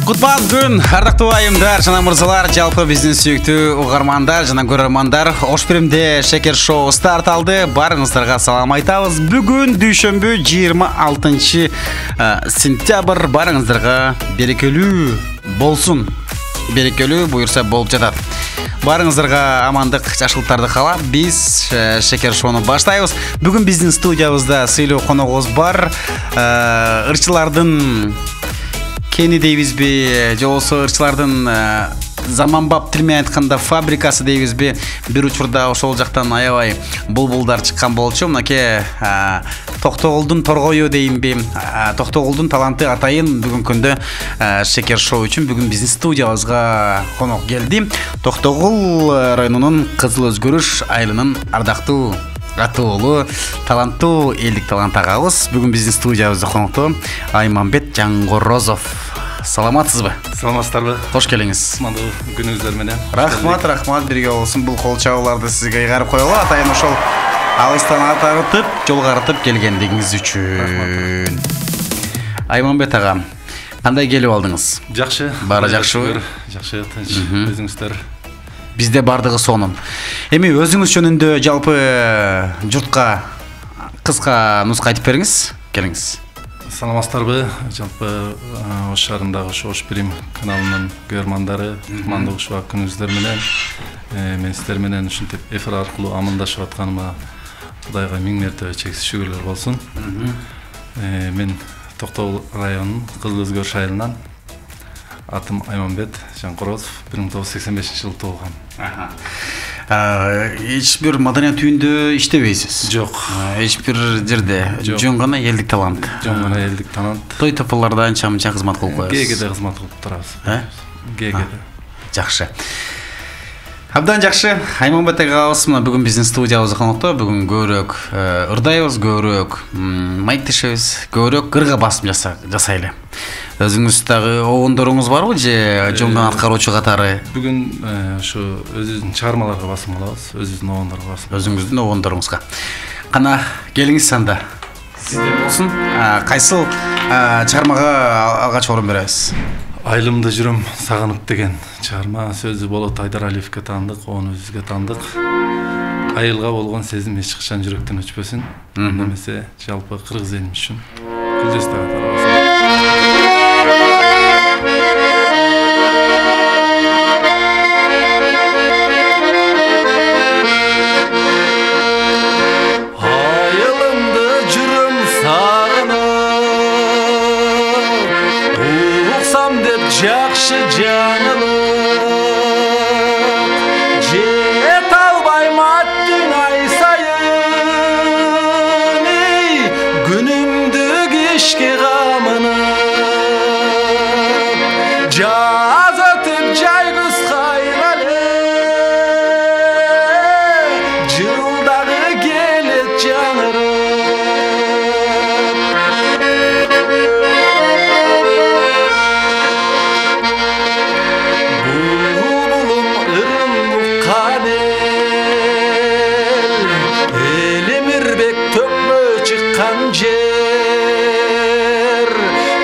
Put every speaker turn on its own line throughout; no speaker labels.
Кутман күн, ардактуу айымдар, жана мырзалар, жалпы биздин сүйүктүү угармандар жана көрөрмандар. Ош Биримде Шекер шоу старт алды. Барыңыздарга салам айтабыз. Бүгүн дүйшөмбү 26 сентябрь. Барыңыздарга берекелүү болсун. Берекелүү буюрса болуп жатат. Барыңыздарга амандык, жакшылыктарды каалап, биз Шекер шоуну баштайбыз. Бүгүн биздин студиябызда сыйлуу коногубуз бар. Ырчылардын кени дейбизби, же болбосо ырчылардын заманбап тил менен айтканда фабрикасы дейбизби, бир учурда ошол жактан аябай булбулдар чыккан болчу. Мынакей Токтогулдун торгою дейинби, Токтогулдун таланты атайын бүгүнкү күндө Шекер шоу үчүн бүгүн биздин студиябызга конок келди. Токтогул районунун Кызыл Өзгөрүш айылынын ардактуу атуулу, таланттуу элдик талант агабыз бүгүн биздин студиябызда конокто Айманбет Жаңгорозов. Саламатсызбы?
Саламатсыздарбы?
Кош келиңиз.
Кутмандуу күнүңүздөр менен.
Рахмат, бирге болсун. Бул кол чабууларды сизге ыйгарып коелу. Атайын ошол алыстан атарытып, жол карытып келгендигиңиз үчүн. Айманбет ага, кандай келип алдыңыз?
Жакшы.
Баары жакшыбы?
Жакшы, тынч. Өзүңүздөр?
Бизде бардыгы сонун. Эми өзүңүз жөнүндө жалпы журтка кыска нуска айтып бериңиз. Келиңиз.
Саламатсыздарбы? Жалпы Ош шаарындагы Ош Бирим каналынын көрөрмандары, кутмандуу ушул күнүңүздөр менен мен сиздер менен ушинтип эфир аркылуу амандашып атканыма Кудайга миң мерте чексиз шүгүрлөр болсун. Мен Токтогул районунун Кызыл Өзгөрүш айылынан атым Айманбет Жаңгорозов, 1985-жылы туулган.
Эч бир маданият үйүндө иштебейсиз?
Жок.
Эч бир жерде жөн гана элдик талант.
Жөн гана элдик талант.
Той тополордо анча-мынча кызмат кылып коесуз.
ГГде кызмат кылып турабыз. ГГде.
Жакшы. Абдан жакшы. Айманбет агабыз мына бүгүн биздин студиябызда конокто. Бүгүн көбүрөөк ырдайбыз, көбүрөөк майыптешебиз, көбүрөөк ырга басым жасайлы. Өзүңүз дагы обондоруңуз барбы же жолдон аткаруучу катары?
Бүгүн ошо өзүбүздүн чыгармаларга басым кылабыз, өзүбүздүн обондорго басым.
Өзүңүздүн обондоруңузга. Кана келиңиз анда. Сизде болсун. Кайсыл чыгармага алгач орун беребиз?
Айылымда жүрөм сагынып деген чыгарма. Сөзү Болот Айдаралиевге таандык, оны өзүбүзгө таандык. Айылга болгон сезим эч качан жүрөктөн өчпөсүн. Немесе жалпы кыргыз элим үчүн күлдөстө катары.
Жакшы жаңылып жет албайм аттың ай сайын күнүмдү кечке камынып жаз өтүп жай күз кайралы жылдагы келет жаңырып жер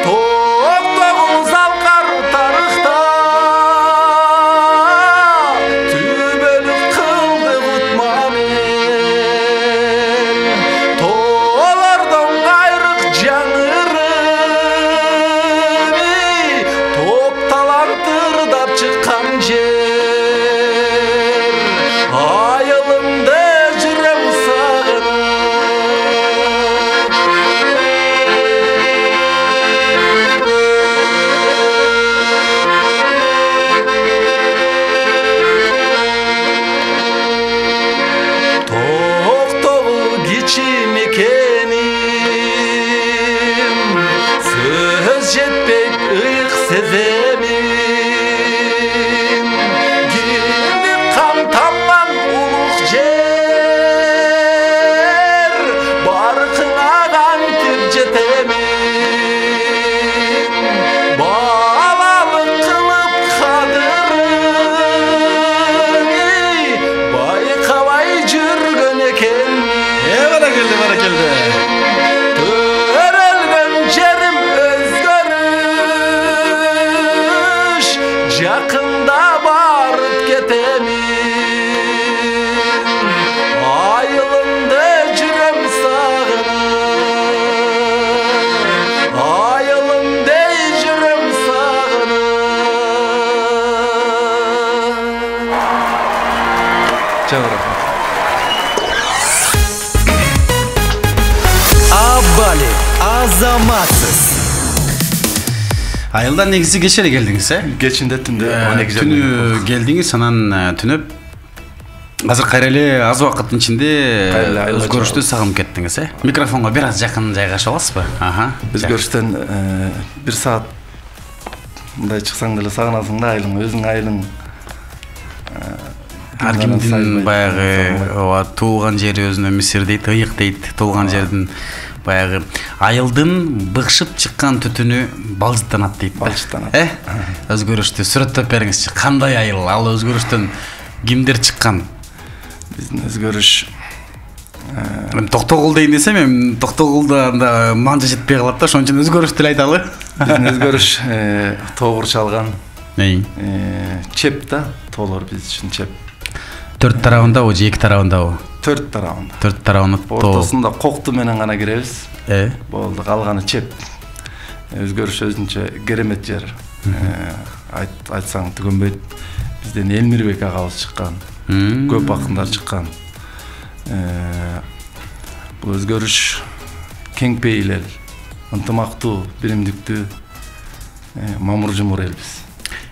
Токтогул залкар тарыхта түбөлүк кылды кутмамел тоолордон кайрык жаңырып топ талант ырдап чыккан жер айылымда жүрөм сагынып сөз жетпейт ыйык сеземин кимдик камталган улук жер баркыңа кантип жетемин балалык кылып кадырын байкабай жүргөн экенмин.
Баракелде.
Төрөлгөн жерим өзгөрүп
Айылдан негизи кеч эле келдиңиз,
Кечинде түндө 12
түнү келдиңиз, анан түнөп азыр кайра эле аз убакыттын ичинде өзгөрүштү сагынып кеттиңиз, Микрофонго бир аз жакын жайгашып аласызбы?
Өзгөрүштөн 1 саат мындай чыксаң деле сагынасың да айылың, өзүң айылың.
Ар кимдин баягы туулган жери өзүнө Мисир дейт, ыйык дейт, туулган жердин баягы айылдын быкшып чыккан түтүнү балжыттанат дейт.
Балжыттанат.
Өзгөрүштү сүрөттөп бериңизчи. Кандай айыл? Ал өзгөрүштөн кимдер чыккан?
Биздин өзгөрүш
Токтогул дейин десем, эми Токтогулда анда манжа жетпей калат да, ошон үчүн өзгөрүш деле айталы.
Биздин өзгөрүш тоогур чалган. Чеп да, тоолор биз үчүн чеп.
4 тарабындабы же 2 тарабындабы?
4 тарабында.
4 тарабында тоо.
Ортосунда кокту менен гана киребиз. Болду, калганы чеп. Өзгөрүш өзүнчө керемет жер. Айтсаң түгөнбөйт. Бизден Элмирбек агабыз чыккан. Көп акындар чыккан. Бул өзгөрүш кең пейил эл, ынтымактуу, биримдиктүү, мамур жумур элбиз.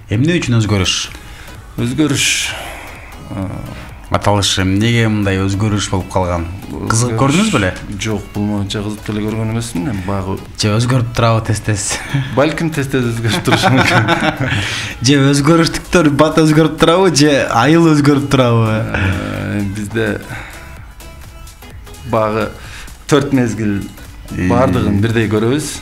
Эмне үчүн өзгөрүш?
Өзгөрүш
аталышы эмнеге мындай өзгөрүш болуп калган? Кызык көрдүңүз беле?
Жок, бул моюнча кызык деле көргөн эмесмин. Багы
же өзгөрүп турабы тез-тез?
Балким тез-тез өзгөрүп турушу мүмкүн.
Же өзгөрүштүктөр бат өзгөрүп турабы, же айыл өзгөрүп турабы?
Бизде багы 4 мезгил бардыгын бирдей көрөбүз.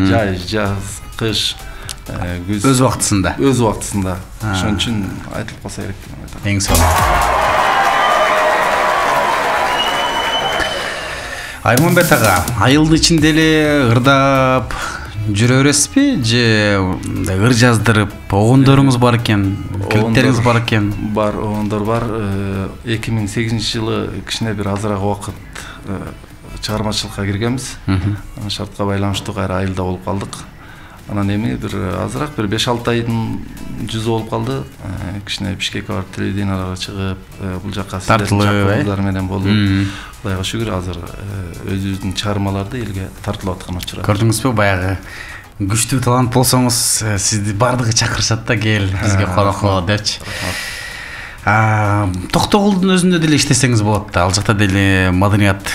Жай, жаз, кыш, күз.
Өз убактысында.
Өз убактысында. Ошон үчүн айтылып калса керек деп айтам.
Эң сонун. Айманбет ага, айылдын ичинде эле ырдап жүрө бересизби, же ыр жаздырып, огондоруңуз бар экен, клиптериңиз бар экен?
Бар, огондор бар. 2008-жылы кичине бир азыраак убакыт чыгармачылыкка киргенбиз. Шартка байланыштуу кайра айылда болуп калдык. Анан эми бир азыраак бир 5-6 айдын жүзү болуп калды. Кичине Бишкекке барып телевиденияларга чыгып, бул жакка сиздердин менен болуп, Кудайга шүгүр азыр өзүбүздүн чыгармаларды элге тартылып аткан учурат.
Көрдүңүзбү, баягы күчтүү талант болсоңуз, сизди бардыгы чакырышат да, кел бизге конокко депчи. Токтогулдун өзүндө деле иштесеңиз болот да. Ал жакта деле маданият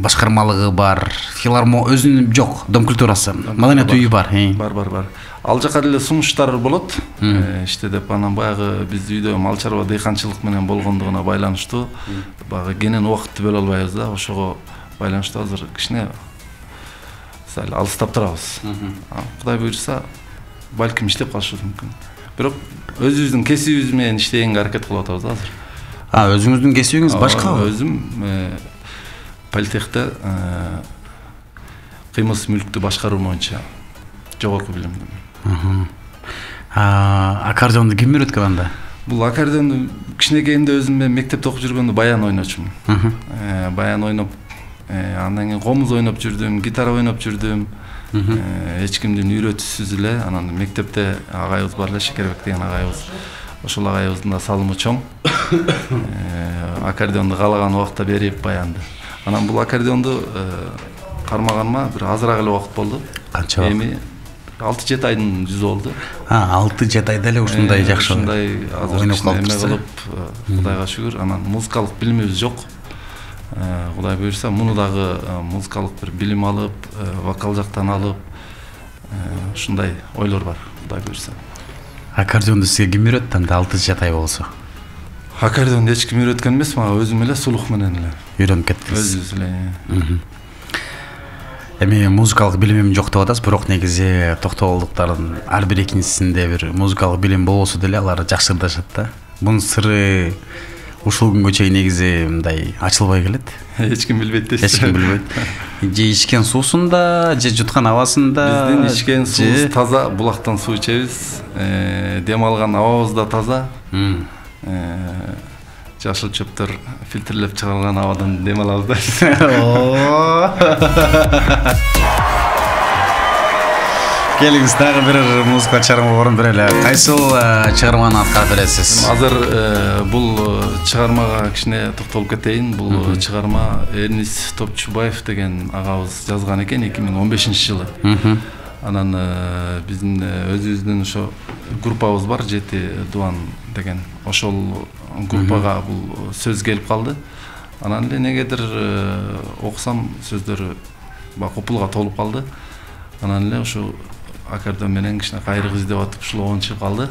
башкармалыгы бар, өзүнүн жок, дом культурасы, маданият үйү бар.
Бар. Ал жака деле сунуштар болот. Иште деп анан баягы биз үйдө мал чарба, дыйканчылык менен болгондугуна байланыштуу баягы кенен убакытты бөлө албайбыз да. Ошого байланыштуу азыр кичине сал алыстап турабыз. Кудай буйрса, балким иштеп калышыбыз мүмкүн. Бирок өзүбүздүн кесибибиз менен иштегенге аракет кылып атабыз азыр.
Өзүңүздүн кесибиңиз башкабы?
Өзүм политехте кыймылсыз мүлктү башкаруу боюнча жогорку билимдимин.
Аккордеонду ким үйрөткөн анда?
Бул аккордеонду кичинекейимде өзүм мен мектепте окуп жүргөндө баян ойночумун. Баян ойноп, андан кийин комуз ойноп жүрдүм, гитара ойноп жүрдүм. Эч кимдин үйрөтүүсүз эле, анан мектепте агайыбыз бар эле, Шекербек деген агайыбыз. Ошол агайыбыздын да салымы чоң. Аккордеонду каалаган убакта берип баянды. Анан бул аккордеонду кармаганыма бир азыраак эле убакыт болду.
Канча?
Эми 6-7 айдын жүзү болду.
6-7 айда эле ушундай жакшы
ойноп калып, Кудайга шүгүр. Анан музыкалык билимибиз жок. Кудай буйрса, муну дагы музыкалык бир билим алып, вокал жактан алып, ушундай ойлор бар, Кудай буйрса.
Аккордеонду сизге ким үйрөттү анда 6-7 ай болсо?
Аккордеонду эч ким үйрөткөн эмес, мага өзүм эле сулук менен эле
үйрөнүп кеттиңиз.
Өзүбүз эле.
Эми музыкалык билимим жок деп атасыз, бирок негизи токтогулдуктардын ар бир экинчисинде бир музыкалык билим болбосо деле алар жакшы ырдашат да. Бунун сыры ушул күнгө чейин негизи мындай ачылбай келет.
Эч ким билбейт дейсиз.
Эч ким билбейт. Же ичкен суусунда, же жуткан абасында.
Биздин ичкен суубуз таза, булактан суу ичебиз. Дем алган абабыз да таза. Жашыл чөптөр фильтрлеп чыгарылган абадан дем алабыз да.
Келиңиз, дагы бир музыка чыгарма орун берели. Кайсыл чыгарманы аткарып бересиз?
Азыр бул чыгармага кичине токтолуп кетейин. Бул чыгарма Эрнис Топчубаев деген агабыз жазган экен 2015-жылы. Анан биздин өзүбүздүн ошо группабыз бар, 7 Дуан деген. Ошол группага бул сөз келип калды. Анан эле негедир окусам сөздөрү купулга толуп калды. Анан эле ошо аккордеон менен кичине кайрык издеп атып ушул чыгып калды.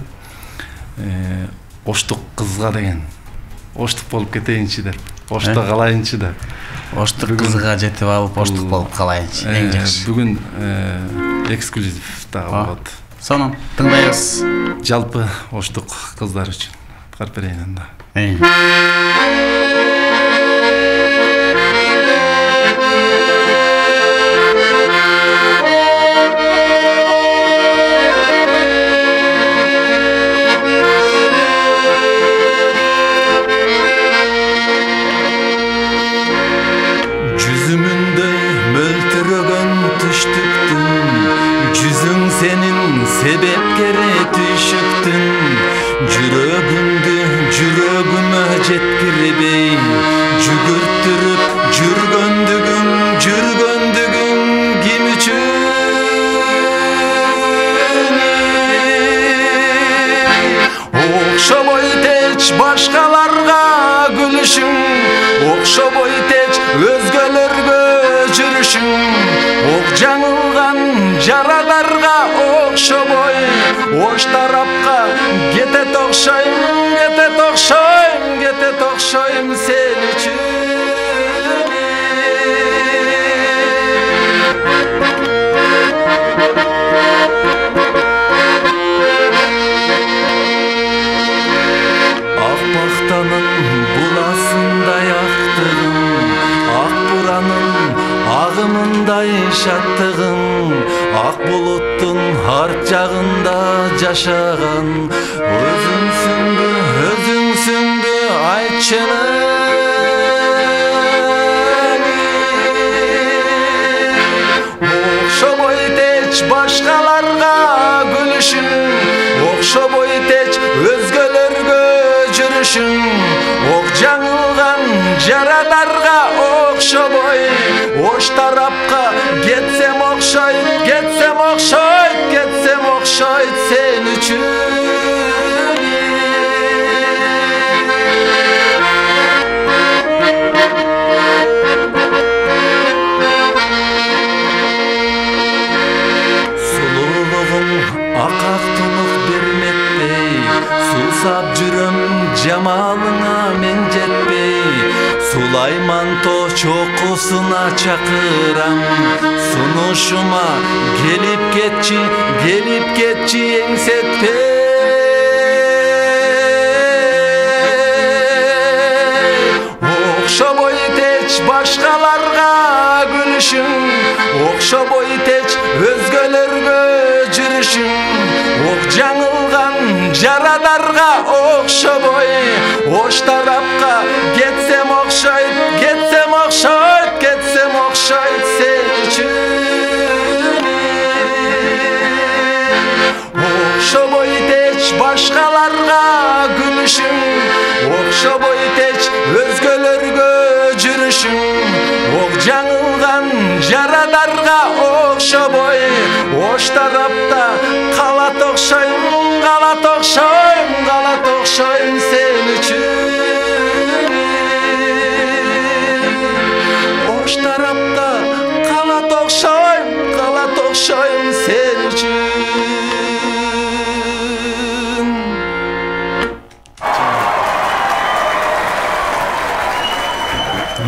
Оштук кызга деген. Оштук болуп кетейинчи деп. Ошто калайынчы деп.
Оштук кызга жетип алып, оштук болуп калайынчы. Эң жакшы.
Бүгүн эксклюзив дагы болот.
Сонун тыңдайбыз.
Жалпы оштук кыздар үчүн кырып берейин анда.
Себепкери түшүктүн жүрөгүмө жеткирбей жүгүртүрүп жүргөндүгүң ким үчүн окшобой теч башкаларга күлүшүң окшобой теч өзгөлөргө жүрүшүң ок жаңылган жарадарга окшобой ош тарапка кетет окшойм сен үчүн ак бактанын буласындай актыгың ак буранын агымындай шаттыгың ак булуттун арт жагында жашаган өзүңсүңбү айтчыны окшобой теч башкаларга күлүшүң окшобой теч өзгөлөргө жүрүшүң ок жаңылган жарадарга окшобой ош тарапка кетсем окшойт сен үчүн сулуулугуң акак тунук бермектей сулсап жүрөм жамалыңа мен жетпей Сулайманто чокусуна чакырам сунушума келип кетчи эңсетпей окшобой теч башкаларга күлүшүң окшобой теч өзгөлөргө жүрүшүң ок жаңылган жарадарга окшобой ош тарапка кетсем окшойт сен үчүн окшобой теч башкаларга күлүшүң окшобой теч өзгөлөргө жүрүшүң ок жаңылган жарадарга окшобой ош тарапта калат окшойм сен үчүн ош тарапта калат окшойм сен үчүн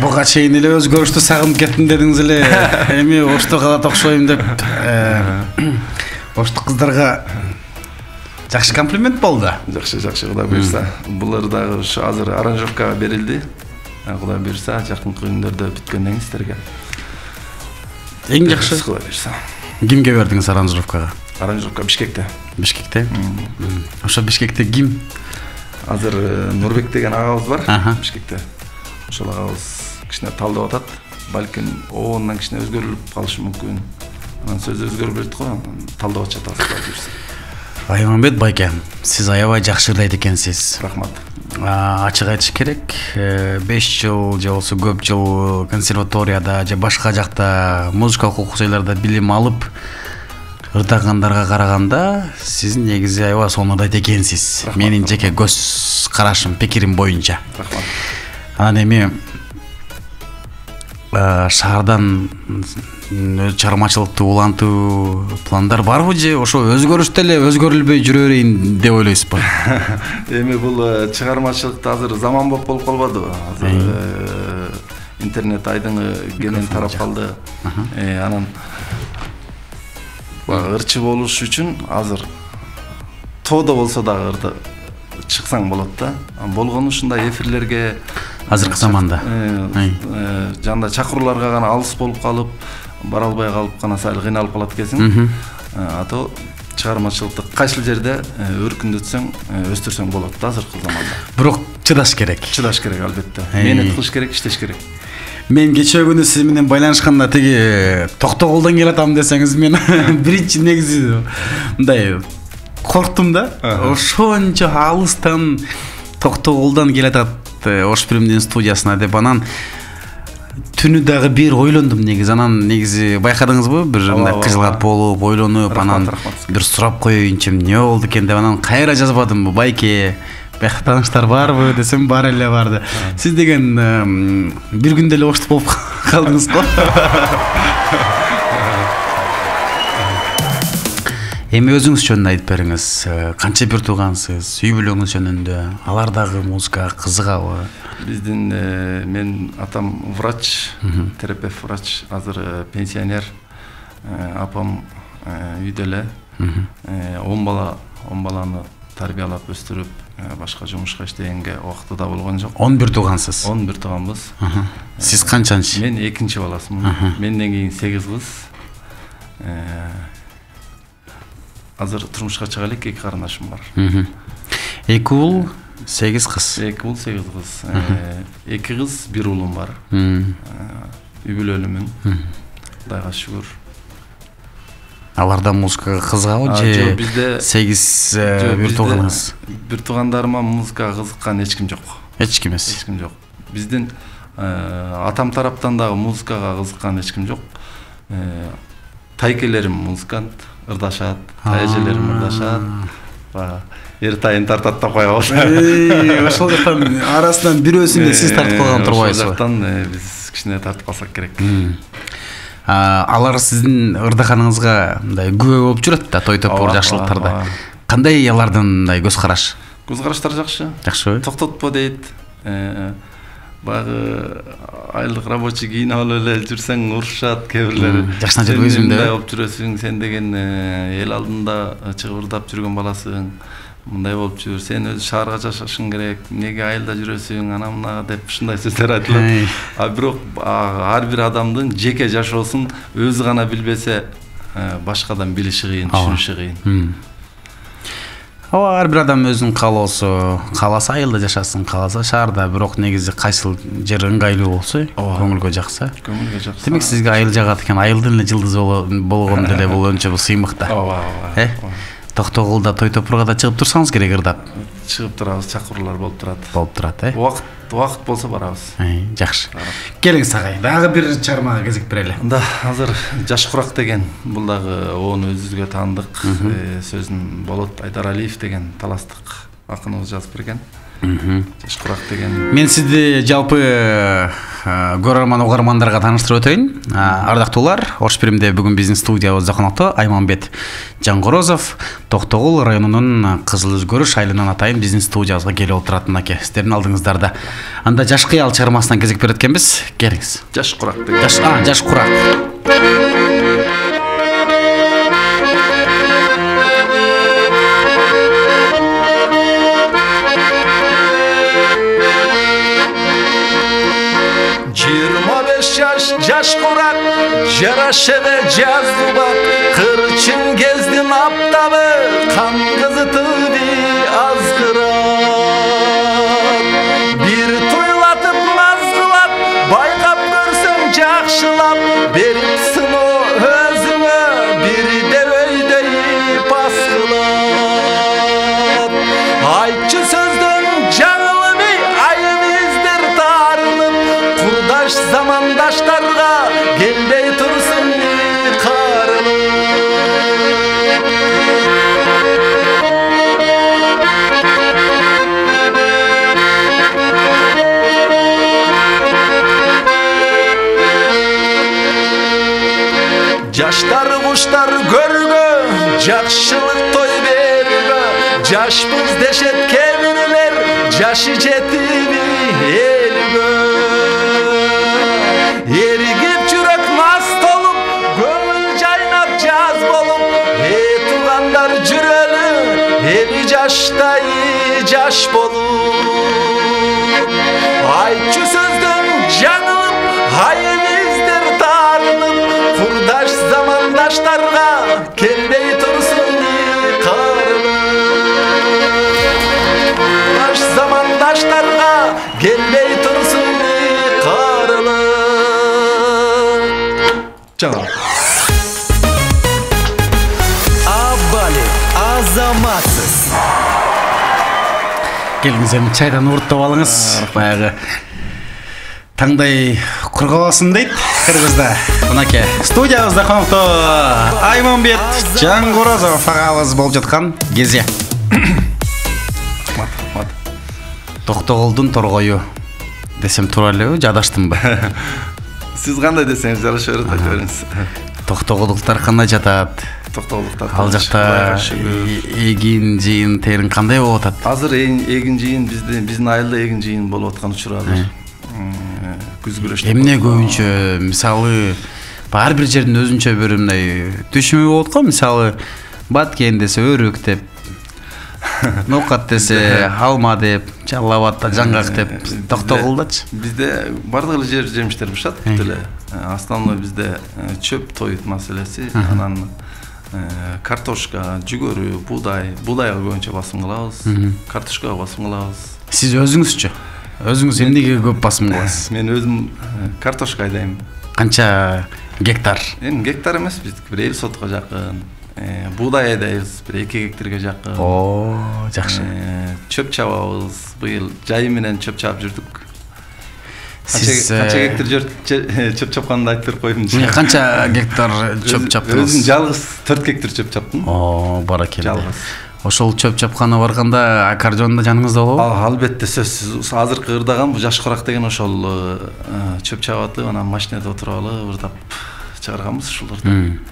Буга чейин эле өзгөрүштү сагынып кеттим дедиңиз эле. Эми ошту калат окшойм деп оштук кыздарга жакшы комплимент болду.
Жакшы, Кудай буйрса. Булар дагы ушу азыр аранжировкага берилди. Кудай буйрса, жакынкы күндөрдө бүткөндөн кийин силерге.
Эң жакшы.
Кудай буйрса.
Кимге бердиңиз аранжировкага?
Аранжировка Бишкекте. Ошо
Бишкекте ким?
Азыр Нурбек деген агабыз бар Бишкекте. Ошол агабыз кичине талдап атат. Балким оондан кичине өзгөрүлүп калышы мүмкүн. Анан сөз өзгөрүп берет го, талдап атат.
Айманбет байке, сиз аябай жакшы ырдайт экенсиз.
Рахмат.
Ачык айтыш керек, 5 жыл же болсо көп жыл консерваторияда же башка жакта музыкалык окуу жайларда билим алып, ырдагандарга караганда сиз негизи аябай сонун ырдайт экенсиз. Менин жеке көз карашым, пикирим боюнча.
Рахмат.
Анан эми шаардан чыгармачылыкты улантуу пландар барбы же ошо өзгөрүш деле өзгөрүлбөй жүрө берейин деп ойлойсузбу?
Эми бул чыгармачылыкты азыр заман болуп калбадыбы? Азыр интернет айдыңы кенен тарап калды. Анан ырчы болуш үчүн азыр тоодо болсо дагы ырды чыксаң болот да. Болгону ушундай эфирлерге
Азыркы заманда
жанда чакырууларга гана алыс болуп калып, бара албай калып гана сайыл кыйналып калат экенсиң. Ато чыгармачылыкты кайсыл жерде өркүндөтсөң, өстүрсөң болот да азыркы заманда.
Бирок чыдаш керек.
Чыдаш керек албетте. Менет кылыш керек, иштеш керек.
Мен кечээ күнү сиз менен байланышканда тиги Токтогулдан келатам десеңиз мен биринчи негизи мындай корктум да. Ошончо алыстан Токтогулдан келатат Ош Пиримдин студиясына деп анан түнү дагы бир ойлондум негизи. Анан негизи байкадыңызбы? Бир мындай кыжылат болуп, ойлонуп, анан бир сурап коеюнчу эмне болду экен деп анан кайра жазбадымбы? Байке, бияка тааныштар барбы десем бар эле барды. Сиз деген бир күндө эле Ошто болуп калдыңыз го. Эми өзүңүз жөнүндө айтып бериңиз. Канча бир туугансыз? Үй бүлөңүз жөнүндө алар дагы музыкага кызыгабы?
Биздин мен атам врач, терапевт врач, азыр пенсионер. Апам үйдө эле 10 баланы тарбиялап өстүрүп, башка жумушка иштегенге убакыты да болгон жок. 11
туугансыз.
11 тууганбыз.
Сиз канчанчы?
Мен экинчи баласымын. Менден кийин 8 кыз. Азыр турмушка чыга элек 2 карындашым бар.
2 уул, 8 кыз.
2 уул, 8 кыз. 2 кыз, 1 уулум бар. Үй бүлөлүмүн. Кудайга шүгүр.
Аларда музыкага кызыгабы же
бизде
8 бир тууганыңыз?
Бир туугандарыма музыкага кызыккан эч ким жок.
Эч ким эмес.
Эч ким жок. Биздин атам тараптан дагы музыкага кызыккан эч ким жок. Тайкелерим музыкант, ырдашат, тайжелерим ырдашат. Эр тайын тартат да коебуз.
Ошол жактан арасынан бирөөсүндө сиз тартып калган турбайсызбы?
Ошол жактан биз кичине тартып калсак керек.
Алар сиздин ырдаганыңызга мындай күбө болуп жүрөт да, той топор жакшылыктарда. Кандай алардын мындай көз караш?
Көз караштар жакшы.
Жакшыбы?
Токтотпо дейт. Багы айлык рабочий кийинип алып эле жүрсөң урушат кээ бирлери.
Жакшына жүрбөйсүң да.
Мындай болуп жүрөсүң, сен деген эл алдында чыгып ырдап жүргөн баласың. Мындай болуп жүр, сен өзү шаарга жашашың керек, эмнеге айылда жүрөсүң, ана мына деп ушундай сөздөр айтылат. Бирок ар бир адамдын жеке жашоосун өзү гана билбесе, башкадан билиши кыйын, түшүнүшү кыйын.
Ар бир адам өзүнүн каалоосу, кааласа айылда жашасын, кааласа шаарда, бирок негизи кайсыл жер ыңгайлуу болсо, көңүлгө жакса.
Көңүлгө жакса.
Демек сизге айыл жагат экен, айылдын эле жылдызы болгон деле бул өнчө сыймык да.
Ооба.
Токтогулда той топурга да чыгып турсаңыз керек ырдап.
Чыгып турабыз, чакыруулар болуп турат.
Болуп турат,
Убакыт болсо барабыз.
Жакшы. Келиңиз агай, дагы бир чыгармага кезек берели.
Да, азыр Жаш курак деген, бул дагы оон өзүбүзгө таандык сөзүн Болот Айдаралиев деген таластык акыныбыз жазып берген. Жаш курак деген.
Мен сизди жалпы көрөрман угармандарга тааныштырып өтөйүн. Ардактуулар, Ош Пиримде бүгүн биздин студиябызда конокто Айманбет Жангорозов, Токтогул районунун Кызыл Өзгөрүш айылынан атайын биздин студиябызга келип отурат мынакей, сиздердин алдыңыздарда. Анда Жаш кыял чыгармасынан кезек берет экенбиз. Келиңиз.
Жаш курак деген.
Жаш курак.
Жаш курак, жарашебе жаздубак, кырчын кездин аптабы, кан кызытыды азгырат. Бир туйлатып наз кылат, байкап көрсөң жакшылап, берип сыноо өзүңө, бирде өйдөйүп аскылат. Айтчы сөздөн жаңылмай, айып издер таарынып, курдаш замандаштарга келбей турсун карылып. жакшылык той берүүгө жашпыз дешет кээ-бирлер жашы жетиби элгө эригип жүрөк мас толуп көңүл жайнап жаз болуп туугандар жүрөлү эли жаштай жаш болуп айтчу сөздөн жаңылып айыл издер таарынып курдаш замандаштарга келбей турсун кырылып замандаштарга келбей турсун кырылып
жаңа
Абали азаматсыз
келиңиз эми чайдан урттап алыңыз. Баягы таңдай кургабасын дейт кыргызда. Мынакей студиябызда конокто Айманбет Жаңгорозов агабыз болуп жаткан кезде. Токтогулдун торгою десем туура элеби, жадаштымбы?
сиз кандай десеңиз жараша берет, айта бериңиз.
Токтогулдуктар кандай жатат?
Токтогулдуктар
Ал жакта эгин жыйын терин кандай болуп атат?
азыр эгин жыйын биздин айылда эгин жыйын болуп аткан учур азыр. Күз күрөш.
Эмне көбүнчө мисалы ар бир жердин өзүнчө бир мындай түшүмү болот го, мисалы баткен десе өрүк деп, нокат десе алма деп, жаллабатта жаңгак деп, токтогулдачы.
Бизде бардык эле жемиштер бышат эле. Основной бизде чөп той маселеси, анан картошка, жүгөрү, буудайга көбүнчө басым кылабыз, картошкага басым кылабыз.
Сиз өзүңүзчү? Өзүңүз эмнеге көп басым кыласыз?
Мен өзүм картошка айдайм.
Канча гектар?
Эми гектар эмес, биздики бир 50 сотко жакын. Буудай айдайбыз, бир 2 гектарга жакын.
О, жакшы.
Чөп чабабыз. Быйыл жайы менен чөп чаап жүрдүк.
Сиз
канча гектар чөп чапканды айтып берип коюмчу.
Канча гектар чөп чаптыңыз?
Өзүм жалгыз 4 гектар чөп чаптым.
О, баракелде.
Жалгыз.
Ошол чөп чапкана барганда аккордеон да жаныңызда болобу?
Албетте, сөзсүз. Азыркы ырдаган бул жаш корак деген ошол чөп чабатып, анан машинада отуруп алып ырдап чыгарганбыз ушуларды.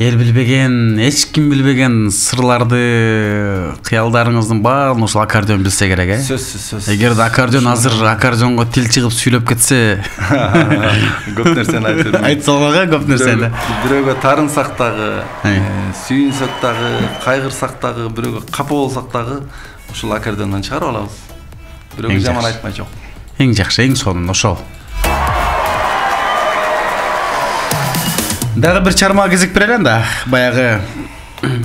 Эл билбеген, эч ким билбеген сырларды, кыялдарыңыздын баарын ошол аккордеон билсе керек, э?
Сөзсүз.
Эгерде аккордеон азыр аккордеонго тил чыгып сүйлөп кетсе,
көп нерсени айтып берем.
айта салмага көп нерсени.
Бирөөгө тарынсак дагы, сүйүнсөк дагы, кайгырсак дагы, бирөөгө капа болсак дагы ушул аккордеондон чыгарып алабыз. Бирөөгө жаман айтмай жок.
Эң жакшы, эң сонун ошол. Дагы бир чарма кезек берелен да. Баягы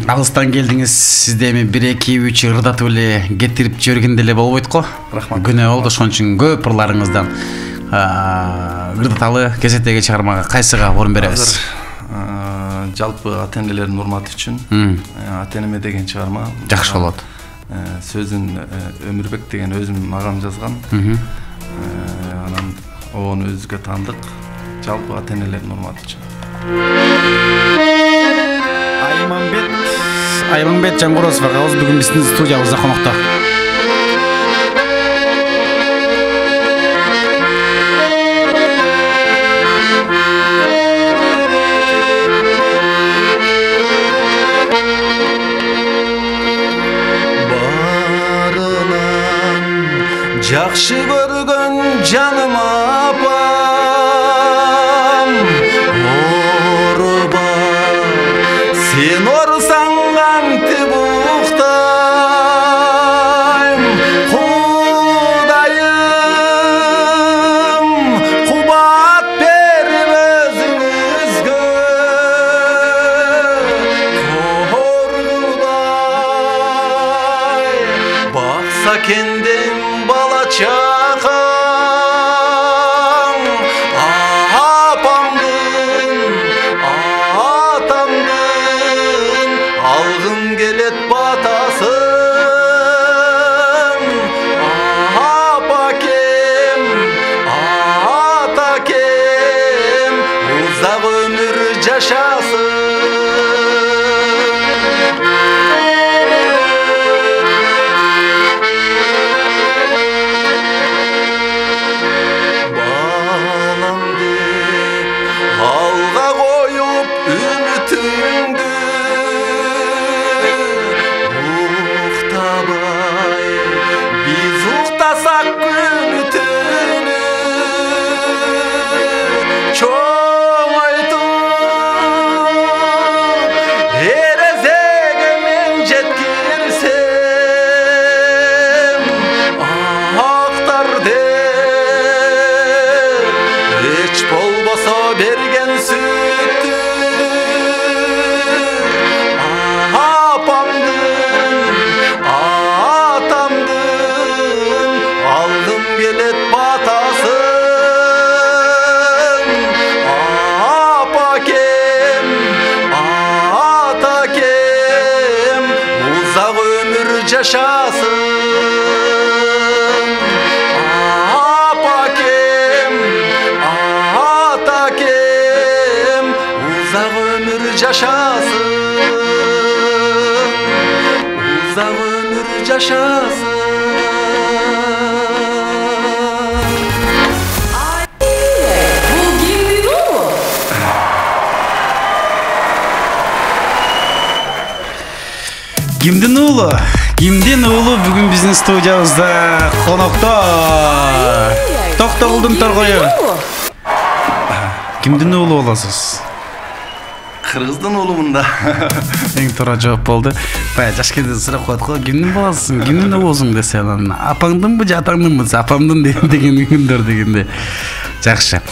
алыстан келдиңиз, сизде эми 1-2-3 ырдатып эле кетирип жибергенде эле болбойт го.
Рахмат.
Күнөө болду, ошон үчүн көп ырларыңыздан ырдаталы кезектеги чармага кайсыга орун беребиз?
Жалпы ата-энелердин урматы үчүн ата-энеме деген чыгарма.
Жакшы болот.
Сөзүн Өмүрбек деген өзүм агам жазган. Анан ону өзүгө таандык. Жалпы ата-энелердин урматы үчүн.
Айманбет Жаңгорозов агабыз бүгүн биздин студиябызда конокто.
Барынан жакшы көргөн жаным апам, орба сен орсаң кантип уктайм, Кудайым кубат берип өзүңүзгө, Коргудай бакса кенден бала чакаң, апамдын атамдын алгым келет батасын, апакем атакем узак өмүр жашасын. Балам деп алга коюп үмүтүңдү, жашасын. Апакем, атакем, узак өмүр жашасын. Узак өмүр жашасын.
Кимдин уулу? Кимдин уулу бүгүн биздин студиябызда конокто. Токтогулдун торгою. Кимдин уулу болосуз?
Кыргыздын уулумун да.
Эң туура жооп болду. Баягы жаш кезде сурап коет го, кимдин баласысың, кимдин уулусуң десе, анан апаңдынбы же атаңдынбы? Апамдын деген күндөр дегенде. Жакшы.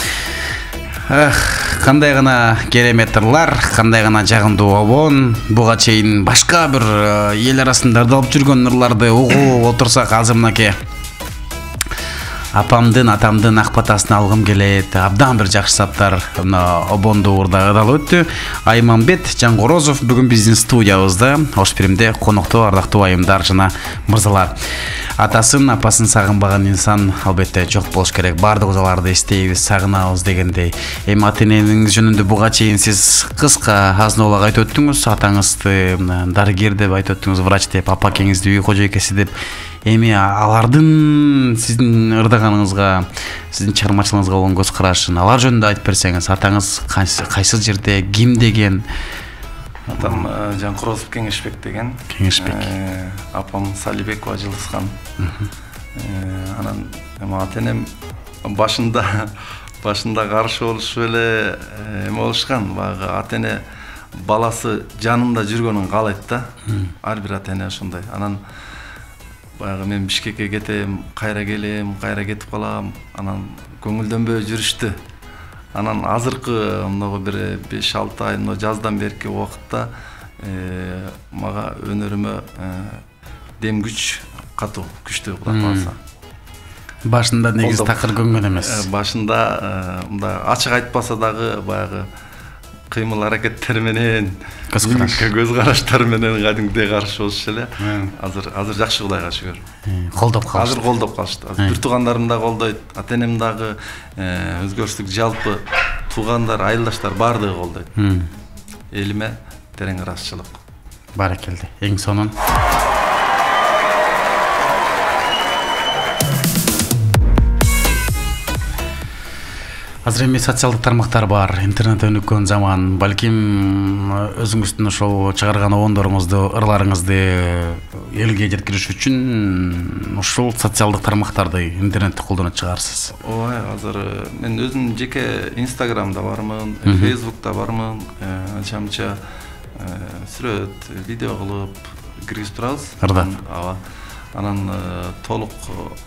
Кандай гана керемет ырлар, кандай гана жагымдуу обон. Буга чейин башка бир эл арасында ырдалып жүргөн ырларды угуп отурсак, азыр мынакей апамдын, атамдын ак батасын алгым келет. Абдан бир жакшы саптар обондуу урда ырдалып өттү. Айманбет Жангорозов бүгүн биздин студиябызда, Ош Биримде конокто, ардактуу айымдар жана мырзалар. Атасын, апасын сагынбаган инсан албетте жок болуш керек. Бардыгыбыз аларды эстейбиз, сагынабыз дегендей. Эми ата-энеңиз жөнүндө буга чейин сиз кыска азын-аулак айтып өттүңүз. Атаңызды дарыгер деп айтып өттүңүз, врач деп, апакеңизди үй кожойкеси деп. Эми алардын сиздин ырдаганыңызга, сиздин чыгармачылыгыңызга болгон көз карашын, алар жөнүндө айтып берсеңиз. Атаңыз кайсы жерде, ким деген?
Атам Жанкорозов Кеңешбек деген.
Кеңешбек.
Апам Салибекова Жылысхан. Анан ата-энем башында каршы болушуп эле эме болушкан. Баягы ата-эне баласы жанында жүргөнүн каалайт да. Ар бир ата-эне ошондой. Анан баягы мен Бишкекке кетем, кайра келем, кайра кетип калам. Анан көңүлдөнбөй жүрүштү. Анан азыркы мынагы бир 5-6 ай жаздан берки убакытта мага өнөрүмө дем күч катуу, күчтүү Кудай кааласа.
Башында негизи такыр көнгөн эмес.
Башында мындай ачык айтпаса дагы баягы кыймыл аракеттер менен, көз караштар менен кадимгидей каршы болушу эле. Азыр жакшы Кудайга шүгүр.
Колдоп калышты.
Азыр колдоп калышты. Бир туугандарым да колдойт, ата-энем дагы өзгөрүштүк жалпы туугандар, айылдаштар баардыгы колдойт. Элиме терең ыраазычылык.
Баракелде. Эң сонун. Азыр эми социалдык тармактар бар, интернет өнүккөн заман. Балким өзүңүздүн ошол чыгарган обондоруңузду, ырларыңызды элге жеткириш үчүн ушул социалдык тармактарды, интернетти колдонуп чыгарсыз.
Ой, азыр мен өзүм жеке Инстаграмда бармын, Фейсбукта бармын, анча-мынча сүрөт, видео кылып киргизип турабыз. Ооба. Анан толук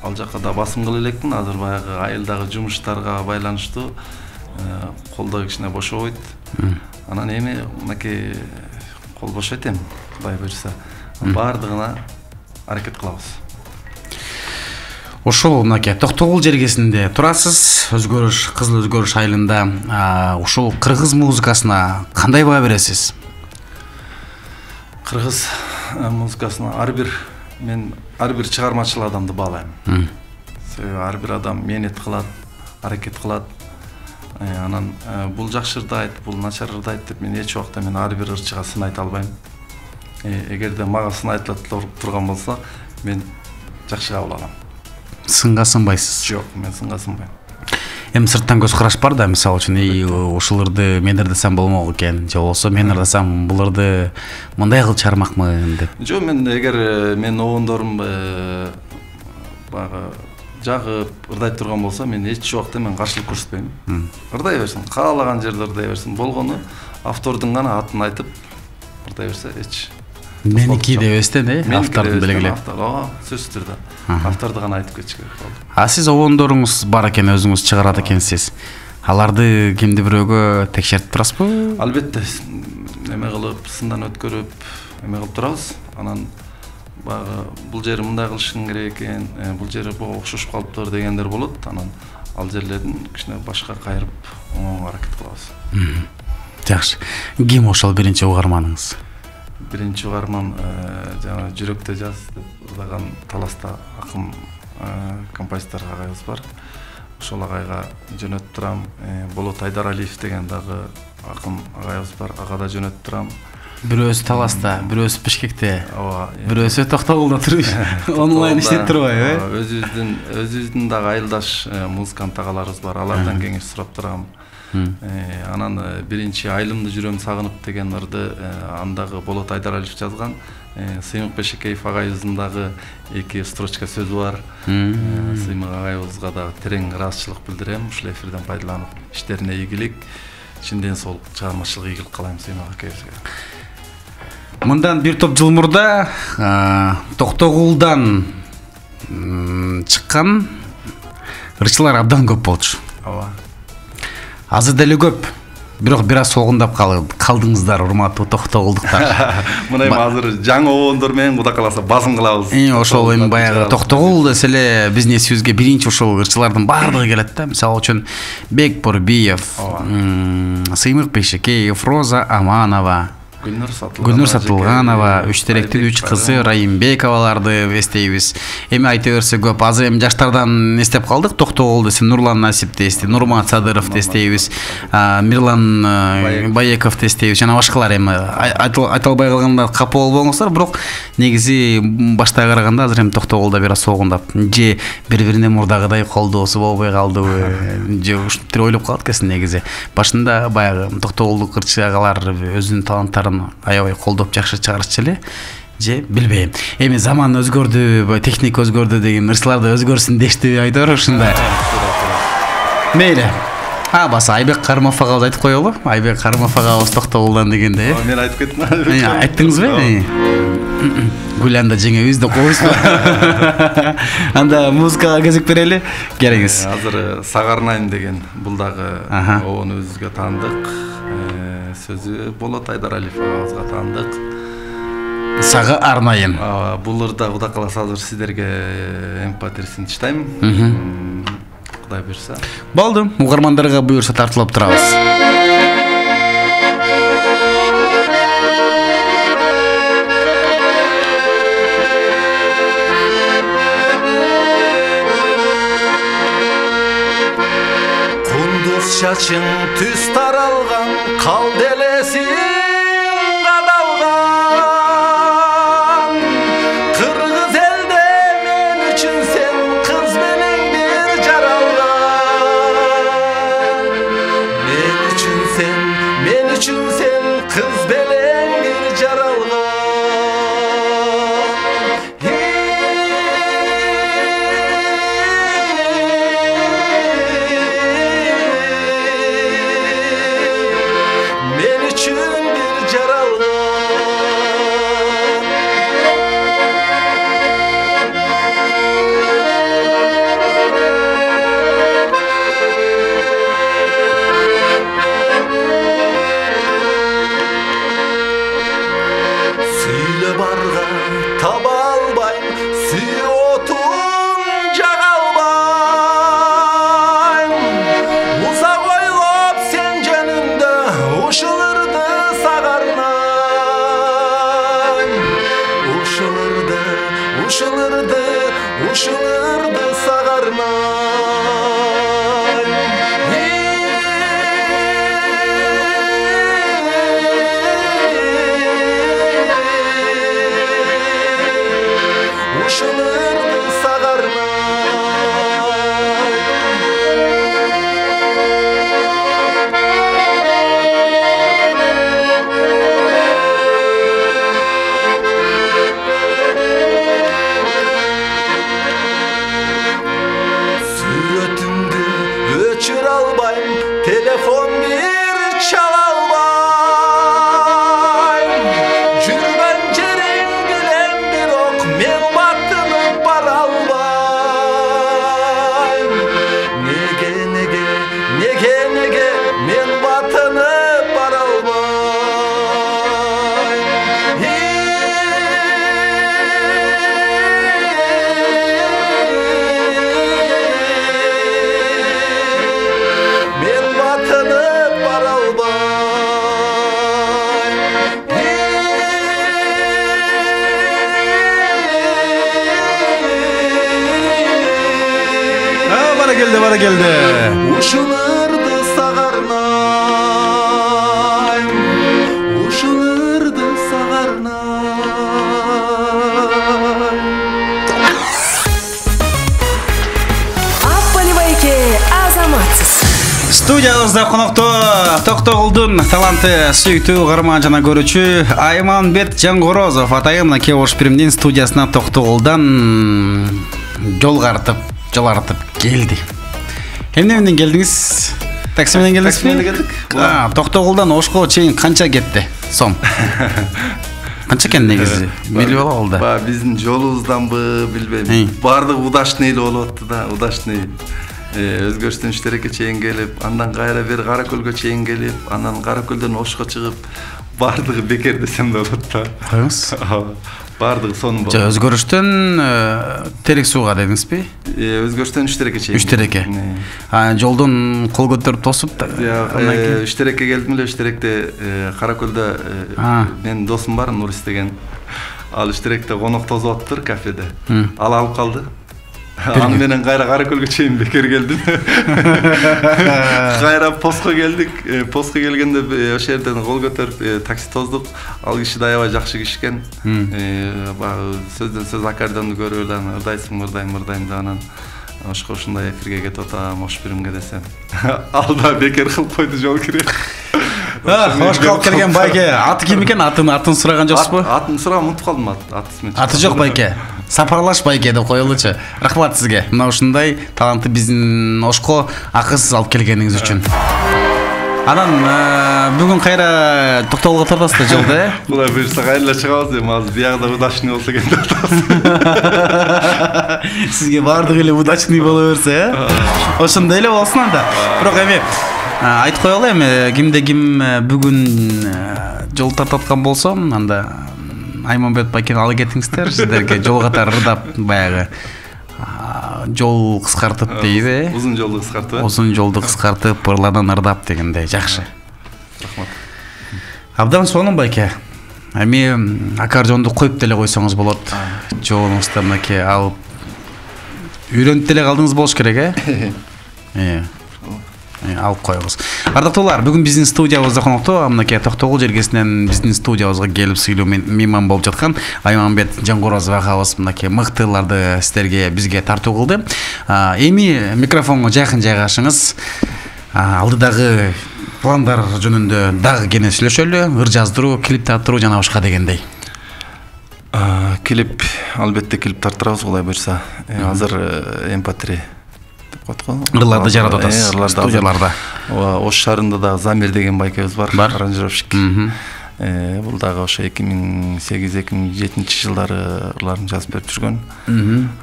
ал жакка да басым кыла элекмин. Азыр баягы айылдагы жумуштарга байланыштуу колдо кичине бошобойт. Анан эми мынакей кол бошойт эми, Кудай буйрса. Баардыгына аракет кылабыз.
Ушул мынакей Токтогул жергесинде турасыз, өзгөрүш, кызыл өзгөрүш айылында. Ушул кыргыз музыкасына кандай баа бересиз?
Кыргыз музыкасына мен ар бир чыгармачыл адамды баалайм. Себеби ар бир адам мээнет кылат, аракет кылат. Анан бул жакшы ырдайт, бул начар ырдайт деп мен эч убакта ар бир ырчыга сын айта албайм. Эгерде мага сын айтыла турган болсо, мен жакшы кабыл алам.
Сынга сынбайсыз?
Жок, мен сынга сынбайм.
Эми сырттан көз караш бар да, мисалы үчүн, ушул ырды мен ырдасам болмок экен, же болбосо мен ырдасам бул ырды мындай кылып чыгармакмын деп.
Жок, мен эгер мен обондорум баягы жагып ырдайт турган болсо, мен эч убакта каршылык көрсөтпөйм. Ырдай берсин, каалаган жерде ырдай берсин. Болгону автордун гана атын айтып ырдай берсе эч.
Меники деп эстен, автордун белгилеп.
Ооба, сөзсүз түрдө. Авторду гана айтып кетиш керек болду.
Сиз обондоруңуз бар экен, өзүңүз чыгарат экенсиз. Аларды кимди бирөөгө текшертип турасызбы?
Албетте, эме кылып, сындан өткөрүп, эме кылып турабыз. Анан баягы бул жери мындай кылышың керек экен, бул жери буга окшошуп калыптыр дегендер болот. Анан ал жерлердин кичине башка кайрып, оңго аракет кылабыз.
Жакшы. Ким ошол биринчи угарманыңыз?
Биринчи угарман жана жүрөктө жаз деп ырдаган таласта акын композитор агайыбыз бар. Ошол агайга жөнөтүп турам. Болот Айдаралиев деген дагы акын агайыбыз бар. Ага да жөнөтүп турам.
Бирөөсү Таласта, бирөөсү Бишкекте, бирөөсү Токтогулда туруп онлайн иштеп турбайбы?
Өзүбүздүн дагы айылдаш музыкант агаларыбыз бар. Алардан кеңеш сурап турам. Анан биринчи Айылымды жүрөм сагынып деген ырды андагы Болот Айдаралиев жазган. Сыймык Бешекеев агайыбыздын дагы 2 строчка сөзү бар. Сыймык агайыбызга дагы терең ыраазычылык билдирем. Ушул эфирден пайдаланып иштерине ийгилик, чын ден соолук, чыгармачылык ийгилик каалайм Сыймык акайыбызга.
Мындан бир топ жыл мурда Токтогулдан чыккан ырчылар абдан көп болчу. Азыр деле көп. Бирок бир аз солгундап калдыңыздар, урматтуу токтогулдуктар.
Мына эми азыр жаңы обондор менен Кудай кааласа басым кылабыз.
Ошол эми баягы Токтогул десе эле биздин эсибизге биринчи ушул ырчылардын баардыгы келет да. Мисалы үчүн Бек Борбиев, Сыймык Бешекеев, Роза Аманова, Гүлнур Сатылганова, үч теректин үч кызы Райымбековаларды эстейбиз. Эми айта берсе көп. Азыр эми жаштардан эстеп калдык. Токтогул десе Нурлан Насипти эстейбиз, Нурмат Садыровду эстейбиз, Мирлан Баековду эстейбиз жана башкалар. Эми айта албай калганда капа болбоңуздар, бирок негизи башта караганда азыр эми Токтогулда бир аз солгундап, же бири-бирине мурдагыдай колдоосу болбой калдыбы, же ушинтип ойлоп калат экенсиң негизи. Башында баягы Токтогулдук ырчы агалар өзүнүн таланттарын аябай колдоп жакшы чыгарчу эле, же билбейм. Эми заман өзгөрдү, техника өзгөрдү деген ырчылар да өзгөрсүн дештиби айтор ушундай. Мейли. Баса Айбек Карымов агабыз айтып коелу. Айбек Карымов агабыз Токтогулдан дегенде.
Мен айтып кеттим.
Айттыңызбы? Гүланда жеңебиз деп коебузбу? Анда музыкага кезек берели. Келиңиз.
Азыр Сагарнайм деген бул дагы обону өзүбүзгө таандык. Сөзү Болот Айдаралиев агабызга таандык.
Сага арнайым.
Бул ырда Кудай кааласа азыр сиздерге MP3-син таштайм. Кудай буйрса.
Болду. Угармандарга буйрса тартылып турабыз.
Кундуз чачың түз таралган, кал делесиң кадалган. Кыргыз элде мен үчүн сен кыз менен бир жаралган. Мен үчүн сен кыз менен бир жаралган. Ушуларды сагарнай. Ушуларды сагарнай.
да келди.
Ушуларды сагарнайм, ушуларды сагарнайм.
Аппали байке азаматсыз.
Студиябызда коноктоо Токтогулдун таланты сүйүктүү каарман жана көрүүчү Айманбет Жаңгорозов атайын мынакей Ош Биримдин студиясына Токтогулдан жол артып келди. Эмне менен келдиңиз? Такси менен келдиңизби?
Такси менен келдик.
Токтогулдан Ошко чейин канча кетти? Сом. Канча экен негизи? Билип алалы да.
Ба биздин жолубузданбы билбейм. Баардыгы удачный эле болуп атты да, удачный. Өзгөрүштөн Үштерекке чейин келип, андан кайра бери Кара Көлгө чейин келип, андан Кара Көлдөн Ошко чыгып, баардыгы бекер десем да болот да.
Коюңуз.
Баардыгы сонун болду.
Өзгөрүштөн Терек сууга дедиңизби?
Өзгөрүштөн Үштерекке чейин.
Үштерекке. Жолдон кол көтөрүп тосуп
Үштерекке келдим эле. Үштеректе Кара Көлдө менин досум бар, Нурис деген. Ал Үштеректе конок тосуп атыптыр кафеде. Ал алып калды. Аны менен кайра Кара Көлгө чейин бекер келдим. Кайра постко келдик. Постко келгенде ошол жерден кол көтөрүп такси тоздук. Ал киши да аябай жакшы киши экен. Сөздөн сөз аккордеонду көрүп эле ырдайсың деп анан Ошко ушундай эфирге кетип атам, Ош Биримге десем. Ал да бекер кылып койду жол кирип.
Ошко алып келген байке. Аты ким экен? Атын сураган жоксузбу?
Атын сураган, унутуп калдым атын.
Аты жок байке. Сапарлаш байке деп коелучу. Рахмат сизге. Мына ушундай талантты биздин Ошко акысыз алып келгениңиз үчүн. Анан бүгүн кайра Токтогулга тартасыз да жолду, э?
Кудай буйрса кайра чыгабыз эми, азыр биягда удачный болсо экен деп атабыз.
Сизге баардыгы эле удачный боло берсе, э? Ошондой эле болсун анда. Бирок эми айтып коелу эми кимде ким бүгүн жол тартып аткан болсо, анда Айманбет байкени ала кетиңиздер, сиздерге жол катары ырдап баягы жол кыскартып дейби,
Узун жолду кыскартып.
Узун жолду кыскартып, ырлардан ырдап дегендей. Жакшы.
Рахмат.
Абдан сонун байке. Эми аккордеонду коюп деле койсоңуз болот. Жолуңузда мынакей алып үйрөнүп деле калдыңыз болуш керек, э? Алып коебуз. Ардактуулар, бүгүн биздин студиябызда коноктоо мынакей Токтогул жергесинен биздин студиябызга келип сыйлуу мейман болуп жаткан Айманбет Жаңгорозов агабыз мынакей мыктыларды сиздерге бизге тартуу кылды. Эми микрофонго жакын жайгашыңыз. Алдыдагы пландар жөнүндө дагы кене сүйлөшөлү. Ыр жаздыруу, клип тартыруу жана башка дегендей.
Клип, албетте клип тартырабыз, Кудай буйрса. Азыр MP3
Ырларды жаратып атасыз студияларда.
Ош шаарында да Замир деген байкебиз бар, аранжировщик. Бул дагы ошо 2008-2007 жылдары ырларын жазып берип жүргөн.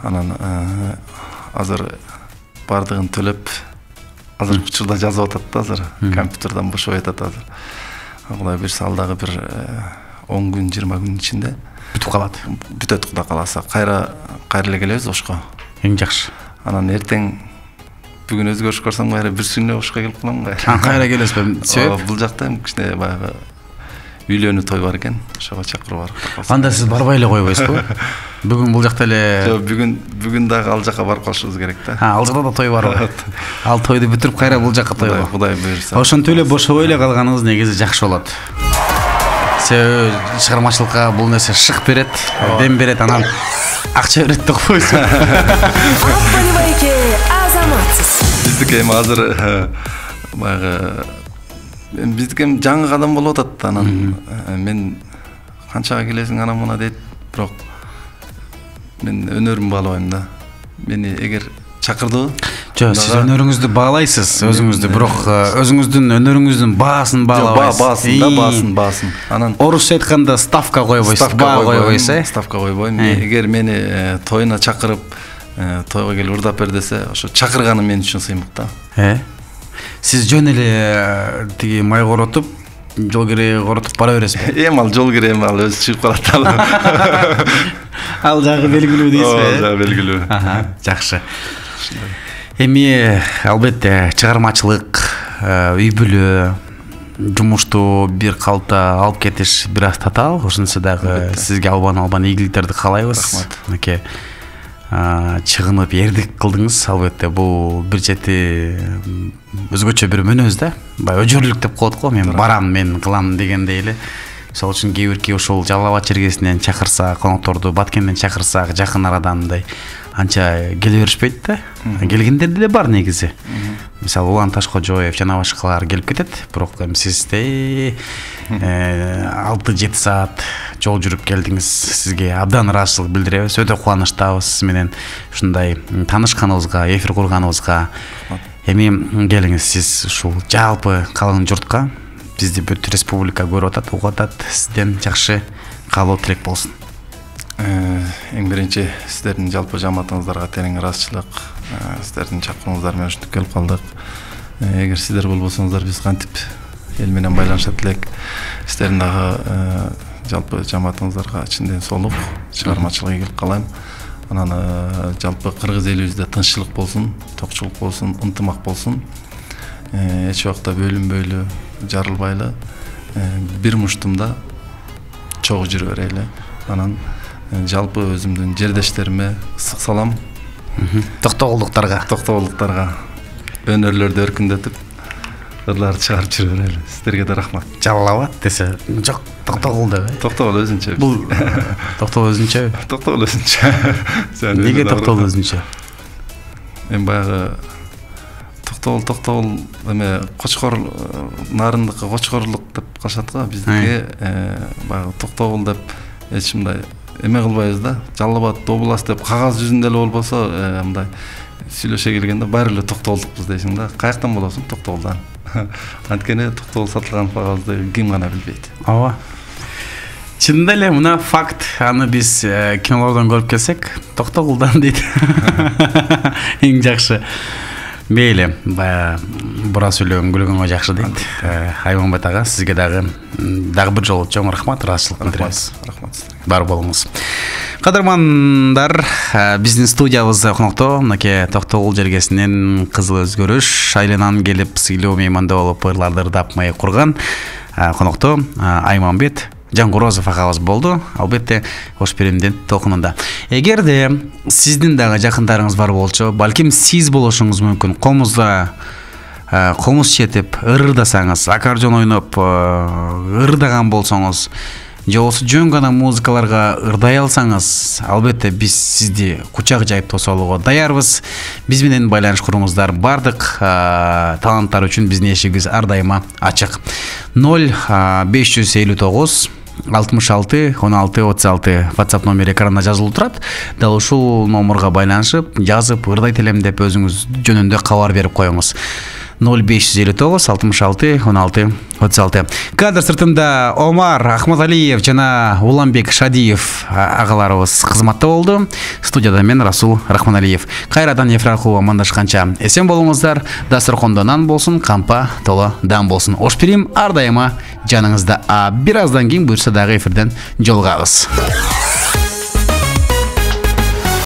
Анан азыр бардыгын төлөп, азыр учурда жазып атат да, азыр компьютерден бошой атат азыр. Кудай буйрса ал дагы бир 10 күн, 20 күн ичинде
бүтүп калат.
Бүтөт, Кудай кааласа. Кайра эле келебиз Ошко.
Эң жакшы.
Анан эртең бүгүн өзгөрүш көрсөм кайра бир сүнө Ошко келип калам кайра.
Кайра келесизби? Себеп?
Бул жакта кичине баягы үйлөнүү той бар экен, ошого чакырып бар.
Анда сиз барбай эле койбойсузбу? Бүгүн бул жакта эле.
Жок, бүгүн дагы ал жака барып калышыбыз керек да.
Ал жакта да той барбы? Ал тойду бүтүрүп кайра бул жака той бар.
Кудай буйрса.
Ошентип эле бошобой эле калганыңыз негизи жакшы болот. Себеби чыгармачылыкка бул нерсе шык берет, дем берет, анан акча берет деп койсун.
Аппали байке азаматсыз.
Биздики эми азыр баягы биздики эми жаңы кадам болуп атат. Анан мен канчага келесиң анан мына дейт, бирок мен өнөрүмдү баалабайм да. Мени эгер чакырды.
Жок, сиз өнөрүңүздү баалайсыз, өзүңүздү, бирок өзүңүздүн өнөрүңүздүн баасын баалабайсыз.
Баасын. Анан
орусча айтканда ставка койбойсуз, баа койбойсуз, э?
Ставка койбойм. Эгер мени тоюна чакырып, тойго келип ырдап бер десе, ошо чакырганы мен үчүн сыймык да.
Сиз жөн эле тиги май коротуп, жол кире коротуп бара бересизби?
Эми ал жол кире, ал өзү чыгып калат.
Ал жагы белгилүү дейсизби?
Ал жагы белгилүү.
Жакшы. Эми албетте чыгармачылык, үй бүлө, жумушту бир калыпта алып кетиш бир аз татаал. Ошонусу дагы сизге албан ийгиликтерди каалайбыз.
Рахмат.
Мынакей чыгынып эрдик кылдыңыз. Албетте бул бир чети өзгөчө бир мүнөз да. Баягы өжөрлүк деп коет го. Мен барам, мен кылам дегендей эле. Мисалы үчүн кээ бирки ошол Жалал Абад чергесинен чакырсак, конокторду Баткенден чакырсак, жакын арадан мындай анча келе беришпейт да. Келгендер деле бар негизи. Мисалы Улан Ташкожоев жана башкалар келип кетет, бирок сизде 6-7 саат жол жүрүп келдиңиз. Сизге абдан ыраазычылык билдиребиз. Өтө кубанычтабыз сиз менен ушундай таанышканыбызга, эфир курганыбызга. Эми келиңиз, сиз ушул жалпы калың журтка, бизди бүт республика көрүп атат, угуп атат. Сизден жакшы каалоо тилек болсун.
Эң биринчи сиздердин жалпы жамаатыңыздарга терең ыраазычылык, сиздердин чакыруңуздар менен ушинтип келип калдык. Эгер сиздер болбосоңуздар биз кантип эл менен байланышат элек. Сиздердин дагы жалпы жамаатыңыздарга чынден соолук, чыгармачылык ийгилик каалайм. Анан жалпы кыргыз элибизде тынччылык болсун, токчулук болсун, ынтымак болсун. Эч убакта бөлүнбөйлү, жарылбайлы, бир муштумда чогуу жүрө берели. Анан жалпы өзүмдүн жердештериме ысык салам.
Токтогулдуктарга
өнөрлөрдү өркүндөтүп, ырларды чыгарып жүрө берели. Сиздерге да рахмат.
Жалал Абад десе, жок, Токтогул деп.
Токтогул өзүнчө.
Бул Токтогул өзүнчө.
Токтогул өзүнчө.
Неге Токтогул өзүнчө?
Мен баягы Токтогул эме Кочкор нарындыкы Кочкорлук деп калышат го. Биздики баягы Токтогул деп эч мындай эме кылбайбыз да. Жалал Абад область деп кагаз жүзүндө эле болбосо, мындай сүйлөшө келгенде баары эле Токтогулдукпуз дейсиң да. Каяктан болосуң? Токтогулдан. Анткени Токтогул сатылган кагазды ким гана билбейт.
Ооба. Чынында эле мына факт. Аны биз кинолордон көрүп келсек, Токтогулдан дейт. Эң жакшы. Мейли, бура сүйлөгөн күлгөнгө жакшы дейт. Айманбет ага, сизге дагы бир жолу чоң рахмат, ыраазычылык билдиребиз.
Рахмат сизге.
Бар болуңуз. Кадырмандар, биздин студиябызда конокто мынакей Токтогул жергесинен кызыл өзгөрүш айылынан келип сыйлуу мейманда болуп ырларды ырдап маек курган конокто Айманбет Жангорозов агабыз болду. Албетте кош беремдин толкунунда. Эгерде сиздин дагы жакындарыңыз бар болчу, балким сиз болушуңуз мүмкүн. Комузда комуз четип ырдасаңыз, аккордеон ойноп ырдаган болсоңуз, же болбосо жөн гана музыкаларга ырдай алсаңыз, албетте биз сизди кучак жайып тосолууга даярбыз. Биз менен байланыш куруңуздар. Бардык таланттар үчүн биздин эшигибиз ар дайыма ачык. 0559 66 16 36 WhatsApp номери экранда жазылып турат. Дал ушул номерге байланышып, жазып, ырдайт элем деп өзүңүз жөнүндө кабар берип коюңуз. 0559 66 16 36. Кадр сыртында Омар Ахмадалиев жана Уланбек Шадиев агаларыбыз кызматта болду. Студияда мен Расул Рахманалиев. Кайрадан эфир аркылуу амандашканча эсен болуңуздар. Дасторкондо нан болсун, кампа толо дам болсун. Ош берим ар дайыма жаныңызда. Бир аздан кийин буюрса дагы эфирден жолугабыз.